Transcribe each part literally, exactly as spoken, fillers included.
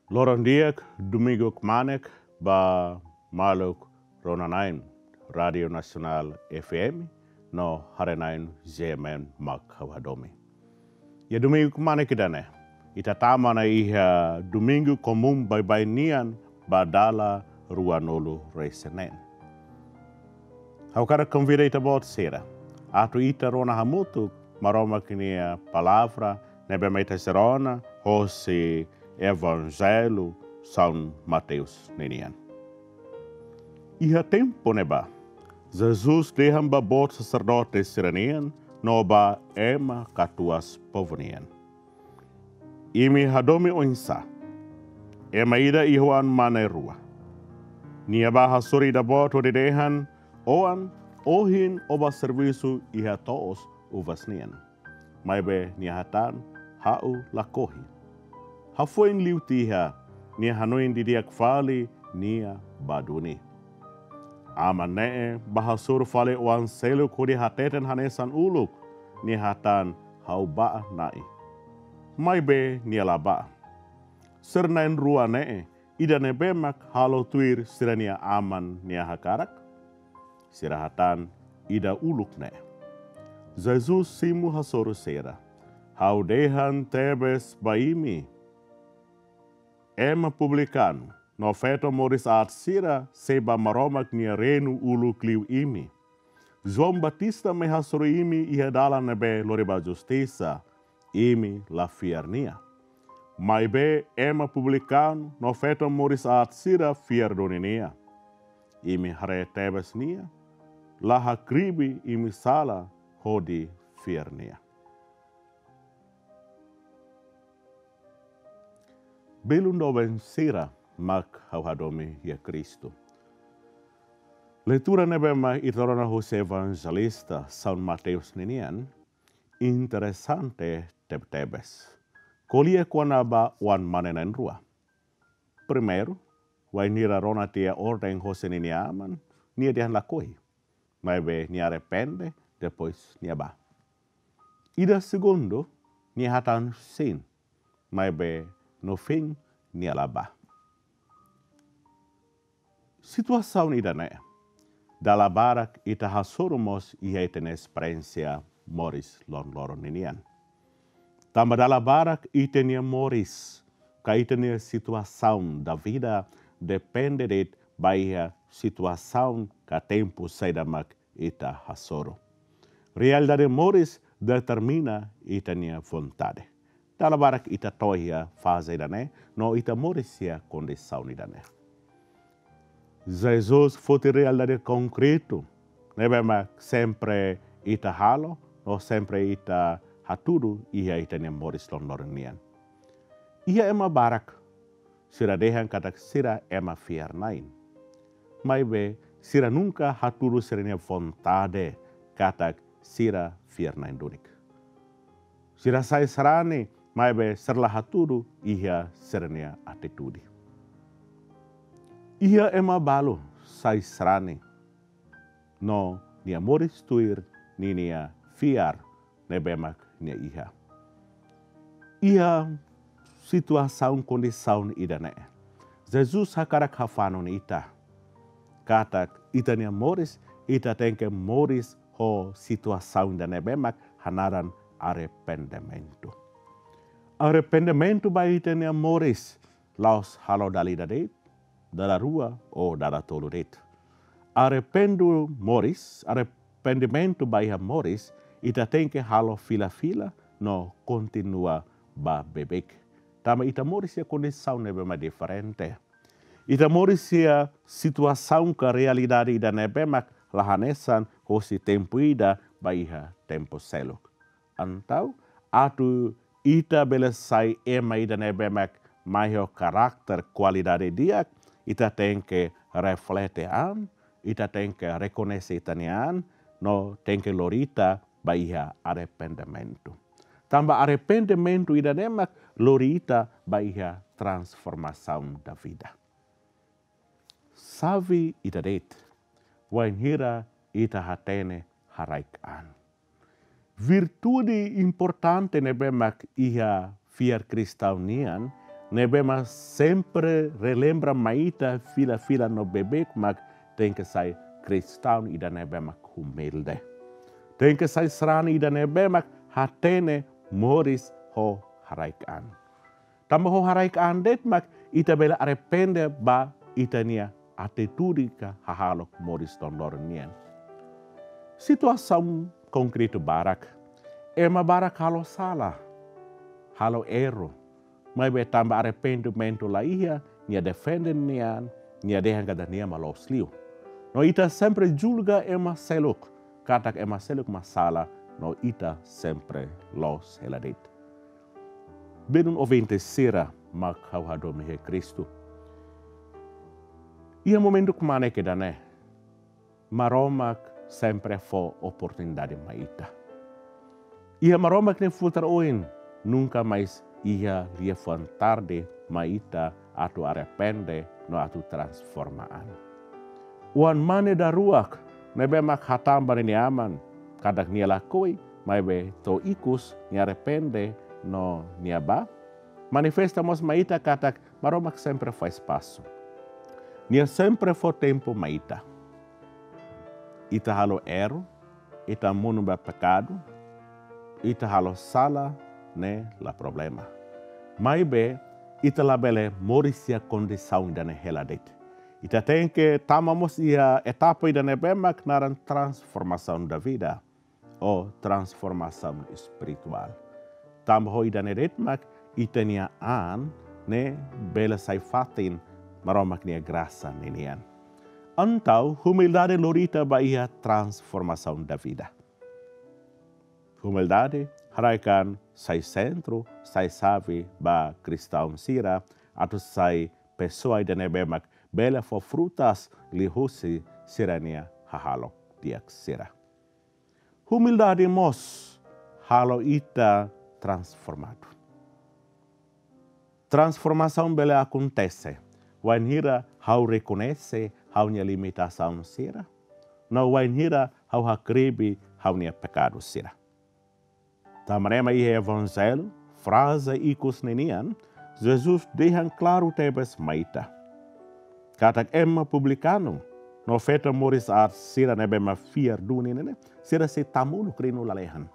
Loron di'ak, Domingu kmanek ba maluk rona-na'in Rádiu Nasionál F M no haree-na'in G M N mak ha'u hadomi. Iha Domingu kmanek ida-ne'e, ita tama ona iha Domingu komún baibain nian ba dala ruanulu-resin-neen. Ha'u hakarak konvida ita-boot sira atu ita rona hamutuk Maromak nia palavra ne'ebé mak ita sei rona hosi Evanjellu São Mateus ninian. Iha tempu ne'ebá, Jesus dehan ba boot saserdote sira-nian no ba ema katuas povu nian: Imi hadomi oinsá? Ema ida iha oan-mane rua. Nia bá hasoru ida-boot hodi dehan: Oan, ohin ó bá servisu iha to'os uvas nian. Maibé nia hatán: Ha'u lakohi. Hafoin liu tiha, nia hanoin didi'ak fali, nia bá duni. Aman ne'e bá hasoru fali oan seluk hodi hateten hanesan uluk, nia hatán: Ha'u bá, na'i. Maibé nia la bá. Sira na'in-rua ne'e, ida ne'ebé mak halo tuir sira-nia aman nia hakarak? Sira hatán: Ida uluk ne'e. Jesus simu hasoru sira: Ha'u dehan tebes ba imi, ema publikanu no feto moris aat sira sei bá Maromak nia reinu uluk liu imi. João Batista mai hasoru imi iha dalan ne'ebé lori ba justisa, imi la fiar nia. Maibé ema publikanu no feto moris aat sira fiar duni nia. Imi haree tebes nia, la hakribi imi sala hodi fiar nia. Belun doben sira mak ha'u hadomi iha Kristu, leitura ne'ebé mak ita rona hosi Evanjelista São Mateus ninian interesante tebetebes. Ko'alia kona-ba oan-mane na'in-rua. Primeiru, wainhira rona tiha orden hosi ninia aman, nia dehan lakohi. Maibé nia arrepende, depois nia bá. Ida segundu, nia hatán sin, maibé no fin nia la bá. Situasaun ida-ne'e dala barak ita hasoru mós iha ita-nia esperiénsia moris loron-loron ninian. Tanba dala barak ita-nia moris ka ita-nia situasaun da vida depende de'it ba iha situasaun ka tempu saida mak ita hasoru. Realidade moris determina ita-nia vontade. Dala barak ita to'o iha faze ida-ne'e, no ita moris iha kondisaun ida-ne'e. Jesus foti realidade konkretu ne'ebé mak sempre ita halo, no sempre ita hatudu iha ita-nia moris loron-loron nian. Iha ema barak sira dehan katak sira ema fiar-na'in. Maibé sira nunka hatudu sira-nia vontade katak sira fiar-na'in duni. Sira sai sarani, maibé sira la hatudu iha sira-nia atitude. Iha ema balu sai sarani, no nia moris tuir ninia fiar ne'ebé mak nia iha. Iha situasaun kondisaun ida-ne'e, Jesus hakarak hafanun ita katak ita-nia moris, ita tenke moris ho situasaun ida ne'ebé mak hanaran arrependimentu. Arrependimentu ba ita-nia moris, la'ós halo dala ida de'it, dala rua ou dala tolu de'it. Arrependu moris, arrependimentu ba iha moris, ita tenke halo fila-fila no kontinua ba beibeik. Tanba ita moris iha kondisaun ne'ebé mak diferente. Ita moris iha situasaun ka realidade ida ne'ebé mak la hanesan hosi tempu ida ba iha tempu seluk. Entaun, atu ita bele sai ema ida ne'ebé mak mai ho karakter kualidade di'ak, ita tenke reflete an, ita tenke rekoñese ita-nia an, no tenke lori ita ba iha arrependimentu. Tanba arrependimentu ida-ne'e mak lori ita ba iha transformasaun da vida. Xave ida de'it, wainhira ita hatene haraik an. Virtude importante ne'ebé mak iha fiar kristaun nian, ne'ebé mak sempre relembra mai ita fila-fila no beibeik mak tenke sai kristaun ida ne'ebé mak humilde. Tenke sai sarani ida ne'ebé mak hatene moris ho haraik-an. Tanba ho haraik-an de'it mak ita bele arrepende ba ita-nia atitude ka hahalok moris loron-loron nian. Situasaun konkretu barak. Ema barak halo sala, halo erru. Maibé tanba arrependimentu la iha, nia defende nia an, nia dehan katak nia mak loos liu. No ita sempre julga ema seluk, katak ema seluk mak sala, no ita sempre loos hela de'it. Belun ouvinte sira mak ha'u hadomi iha Kristu. Iha momentu kmanek ida-ne'e, Maromak sempre fó oportunidade mai ita. Iha Maromak nia futar oin, nunka mais iha liafuan tarde mai ita atu arrepende no atu transforma an. Oan mane daruak ne'ebé mak hatán ba ninia aman katak nia lakohi, maibé to'o ikus nia arrepende no nia bá, manifesta mós mai ita katak Maromak sempre fó espasu. Nia sempre fó tempu mai ita. Ita halo erru, ita monu ba pekadu, ita halo sala, ne'e la problema. Maibé ita labele moris iha kondisaun ida-ne'e hela de'it. Ita tenke tama mós iha etapa ida ne'ebé mak naran transformasaun da vida, ou transformasaun espirituál. Tanba ho ida-ne'e de'it mak ita-nia an ne'e bele sai fatin Maromak nia grasa ninian. Entaun, humildade lori ita ba iha transformasaun da vida. Humildade haraik-an sai sentru, sai xave ba kristaun sira, atu sai pesoa ida ne'ebé mak bele fó frutas liuhusi sira-nia hahalok di'ak sira. Humildade mós halo ita transformadu. Transformasaun bele akontese wainhira ha'u rekoñese ha'u-nia limitasaun sira, no wainhira ha'u hakribi ha'u-nia pekadu sira. Tanba ne'e mak iha Evanjellu, fraze ikus ninian, Jesus dehan klaru tebes mai ita katak ema publikanu no feto moris aat sira ne'ebé mak fiar duni ne'e, sira sei tamuluk rinu lalehan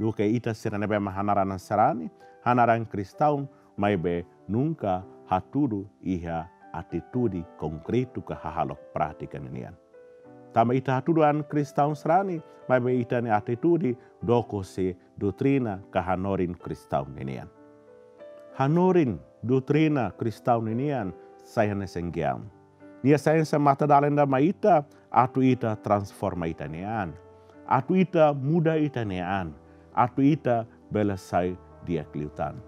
duké ita sira ne'ebé mak hanaran sarani, hanaran kristaun, maibé nunka hatudu iha atitude konkretu ka hahalok prátika ninian. Tanba ita hatudu an kristaun sarani, maibé ita-nia atitude dook husi doutrina ka hanorin kristaun ninian. Hanorin doutrina kristaun ninian sai hanesan geam. Nia sai hanesan matadalan ida mai ita, atu ita transforma ita-nia an, atu ita muda ita-nia an, atu ita bele sai di'ak liután.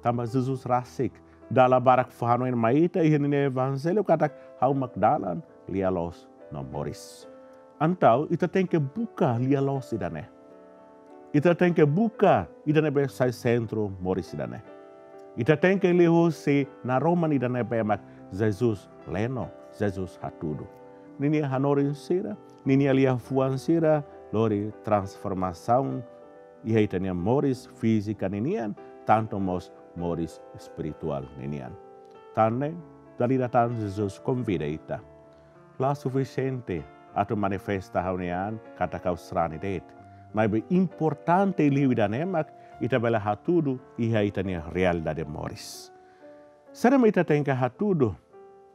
Tanba Jesus rasik dala barak fó hanoin mai ita iha ninia Evanjellu katak ha'u mak dalan, lia-loos no moris. Entaun ita tenke buka lia-loos ida-ne'e. Ita tenke buka ida ne'ebé sai sentru moris ida-ne'e. Ita tenke liuhusi naroman ida ne'ebé mak Jesus leno, Jesus hatudu. Ninia hanorin sira, ninia liafuan sira lori transformasaun iha ita-nia moris fízika ninian, tantu mós moris espirituál ninian. Tan ne'e, dala ida tan Jesus konvida ita. La sufisiente atu manifesta ha'u-nia an katak ha'u sarani de'it. Maibé importante liu ida-ne'e mak ita bele hatudu iha ita-nia realidade moris. Saida mak ita tenke hatudu,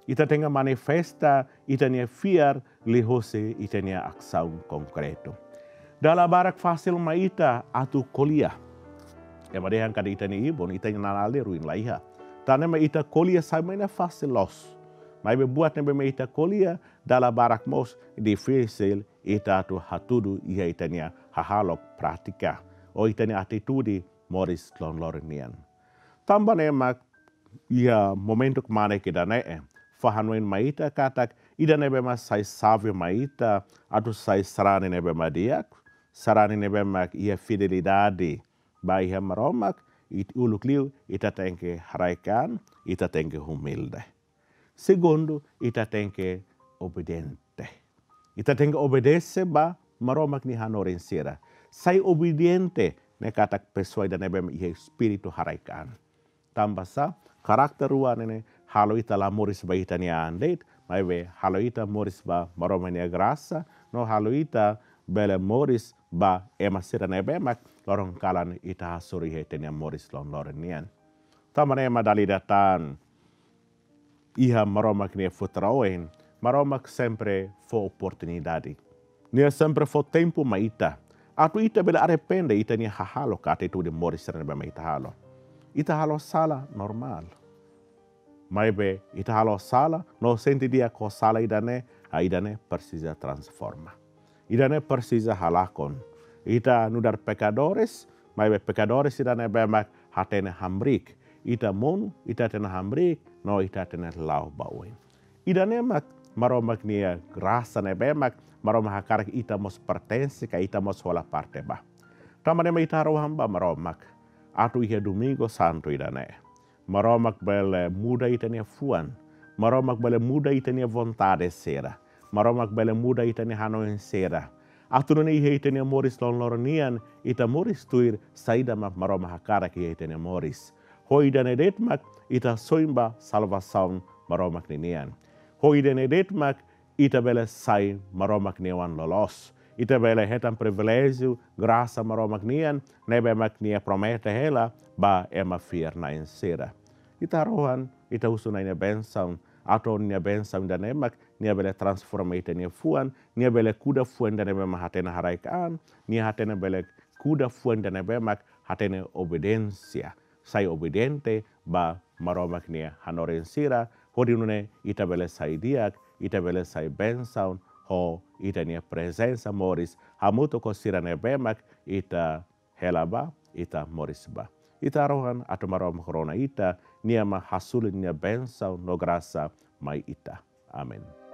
ita tenke manifesta ita-nia fiar liuhusi ita-nia asaun konkretu. Dala barak fasil mai ita atu ko'alia. Ema dehan katak ita-nia ibun, ita-nia nanál de'it ruin la iha. Tan ne'e mak ita ko'alia sai mai ne'e fasil loos. Maibé buat ne'ebé mak ita ko'alia, dala barak mós difisil ita atu hatudu iha ita-nia hahalok prátika, ou ita-nia atitude moris loron-loron nian. Tanba ne'e mak iha momentu kmanek ida-ne'e fó hanoin mai ita katak ida ne'ebé mak sai xave mai ita atu sai sarani ne'ebé mak di'ak, sarani ne'ebé mak iha fidelidade ba iha Maromak, it-, uluk liu ita tenke haraik-an, ita tenke humilde. Segundu, ita tenke obediente. Ita tenke obedese ba Maromak nia hanorin sira. Sai obediente ne'e katak pesoa ida ne'ebé mak iha espíritu haraik-an. Tanba sá, karakter rua ne'e halo ita la moris ba ita-nia an de'it, maibé halo ita moris ba Maromak nia grasa, no halo ita bele moris ba ema sira ne'ebé mak loron kalan ita hasoru iha ita-nia moris loroloron nian. Tanba ne'e mak dala ida tan iha Maromak nia futar oin, Maromak sempre fó oportunidade. Nia sempre fó tempu mai ita, atu ita bele arrepende ita-nia hahalok ka atitude moris sira ne'ebé mak ita halo. Ita halo sala, normál. Maibé ita halo sala, no sente di'ak ho sala ida-ne'e, ah, ida-ne'e presiza transforma. Ida-ne'e presiza halakon. Ita nu'udar pekadores, maibé pekadores ida ne'ebé mak hatene hamriik. Ita monu, ita hatene hamriik, no ita hatene la'o ba oin. Ida-ne'e mak Maromak nia grasa ne'ebé mak Maromak hakarak ita mós pertense ka ita mós hola parte ba. Tanba ne'e mak ita harohan ba Maromak atu iha Domingu Santu ida-ne'e Maromak bele muda ita-nia fuan. Maromak bele muda ita-nia vontade sira. Maromak bele muda ita-nia hanoin sira. Atu nune'e iha ita-nia moris loroloron nian, ita moris tuir saida mak Maromak hakarak iha ita-nia moris. Ho ida-ne'e de'it mak ita soin ba salvasaun Maromak ninian. Ho ida-ne'e de'it mak ita bele sai Maromak nia oan loloos. Ita bele hetan priviléjiu, grasa Maromak nian, ne'ebé mak nia promete hela ba ema fiar-na'in sira. Ita harohan, ita husu Na'i nia bensaun, atu nia bensaun ida-ne'e mak nia bele transforma ita-nia fuan, nia bele kuda fuan ida ne'ebé mak hatene haraik an, nia hatene bele kuda fuan ida ne'ebé mak hatene obediénsia, sai obediente ba Maromak nia hanorin sira, hodi nune'e ita bele sai di'ak, ita bele sai bensaun, ho ita-nia prezensa moris, hamutuk ho sira ne'ebé mak ita hela ba, ita moris ba. Ita harohan atu Maromak rona ita, nia mak hasoru nia bensaun no grasa mai ita. Amen.